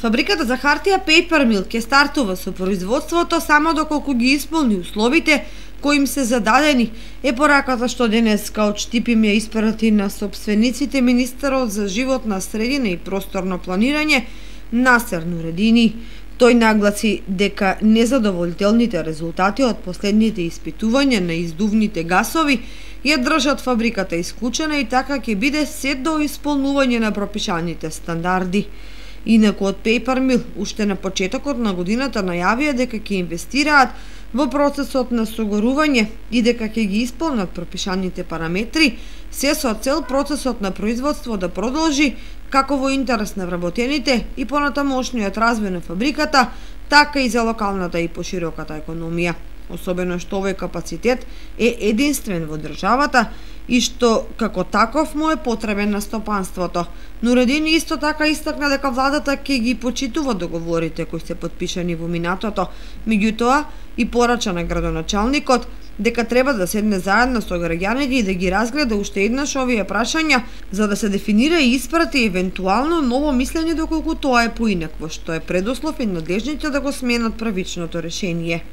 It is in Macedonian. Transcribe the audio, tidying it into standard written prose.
Фабриката за хартија Paper Mill ќе стартува со производството само доколку ги исполни условите кои им се зададени, е пораката што денеска од Штипим ја испрати на сопствениците министерот за животна средина и просторно планирање Насер Нуредини. Тој нагласи дека незадоволителните резултати од последните испитувања на издувните гасови ја држат фабриката исклучена и така ќе биде сет до исполнување на пропишаните стандарди. Инаку од Paper Mill уште на почетокот на годината најавија дека ќе инвестираат во процесот на согорување и дека ќе ги исполнат пропишаните параметри, се со цел процесот на производство да продолжи како во интерес на вработените и понатамошниот развој на фабриката, така и за локалната и пошироката економија. Особено што овој капацитет е единствен во државата и што како таков му е потребен на стопанството. Нуредини исто така истакна дека владата ќе ги почитува договорите кои се потпишани во минатото, меѓутоа и порача на градоначалникот дека треба да седне заедно со граѓаните и да ги разгледа уште еднаш овие прашања за да се дефинира и испрати евентуално ново мислење доколку тоа е поинакво, што е предуслов и надлежните да го сменат правичното решение.